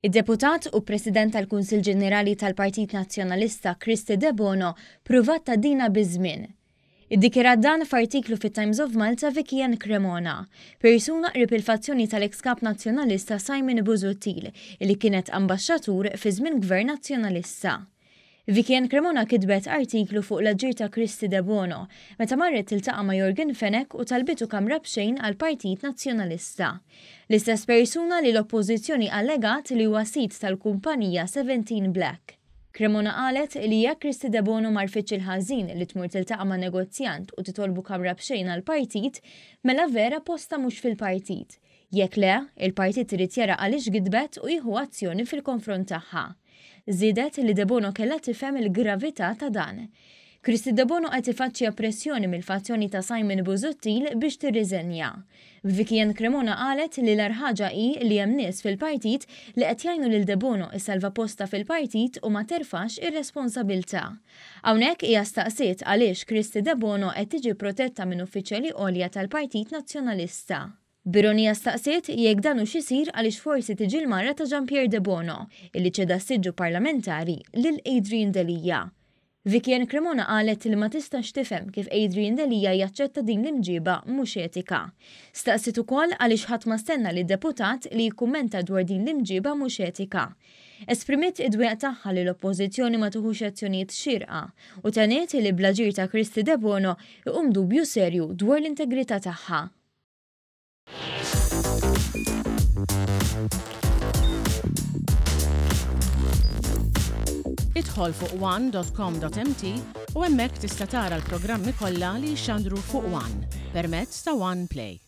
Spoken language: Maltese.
Id-Deputat u President tal-Kunsill Ġenerali tal-Partit Nazzjonalista Kristy Debono pruvat tgħaddina biż-żmien. Iddikjarat dan f'artiklu fit-Times of Malta Vicki Ann Cremona, persuna qrib il-fazzjoni tal-eks Kap Nazzjonalista Simon Busuttil illi kienet ambaxxatur fi żmien Gvern Nazzjonalista. Vicki Ann Cremona kitbet artiklu fuq l-aġir ta' Kristy Debono meta marret tiltaqa' ma' Yorgen Fenech u talbitu kamra b'xejn għall-Partit Nazzjonalista. L-istess persuna li l-Oppożizzjoni allegat li huwa sid tal-kumpanija Seventeen Black. Cremona qalet li jekk Kristy Debono m'għarfitx il-ħażin li tmur tiltaqa' ma' negozjant u titolbu kamra b'xejn għall-partit, mela vera postha mhux fil-partit. Jekk le, il-partit irid jara għaliex gidbet u jieħu azzjoni fil-konfront tagħha. Żiedet li Debono kellha tifhem il-gravità ta' dan. Kristy Debono qed tifaċċja pressjoni mill-fazzjoni ta' Simon Busuttil biex tirriżenja. Vicki Ann Cremona qalet li l-agħar ħaġa hi li hemm nies fil-partit li qed jgħinu lil Debono issalva postha fil-partit u ma terfax ir-responsabilità. Hawnhekk hija staqsiet għaliex Kristy Debono qed tiġi protetta minn uffiċjali għolja tal-Partit Nazzjonalista. B'ironija staqsiet jekk dan hux isir għaliex forsi tiġi l-mara ta' Jean Pierre Debono, illi ċeda s-siġġu parlamentari lil Adrian Delia. Vicki Ann Cremona qalet li ma tistax tifhem kif Adrian Delia jaċċetta din l-imġieba mhux etika. Staqsiet ukoll għaliex ħadd ma stenna lid-deputat li jikkummenta dwar din l-imġieba mhux etika. Esprimiet id-dwejjaq tagħha li l-Oppożizzjoni ma tiħux azzjonijiet xierqa u tenniet li bl-aġir ta' Kristy Debono iqum dubju serju dwar l-integrità tagħha. Idħol fuq one.com.mt u hemmhekk tista' tara l-programmi kollha li jixxandru fuq One permezz ta' One Play.